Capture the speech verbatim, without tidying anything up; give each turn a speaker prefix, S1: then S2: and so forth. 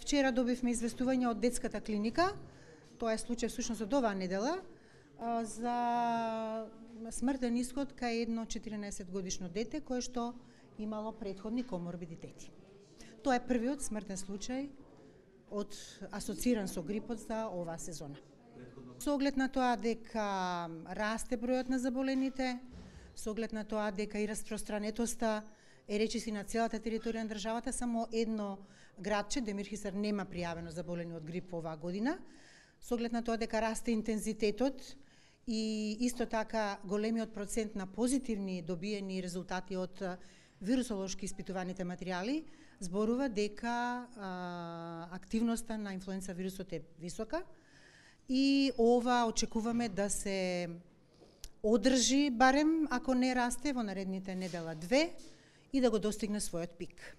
S1: Вчера добивме известување од детската клиника, тоа е случај всушност од оваа недела, за смртен исход кај едно четиринаесет годишно дете кое што имало претходни коморбидитети. Тоа е првиот смртен случај од асоциран со грипот за оваа сезона. Со оглед на тоа дека расте бројот на заболените, со оглед на тоа дека и распространетоста е речиси на целата територија на државата, само едно градче, Демирхисар, нема пријавено заболени од грип оваа година, со оглед на тоа дека расте интензитетот и исто така големиот процент на позитивни добиени резултати од вирусолошки испитуваните материјали, зборува дека а, активноста на инфлуенца вирусот е висока и ова очекуваме да се одржи барем ако не расте во наредните недела две и да го достигне својот пик.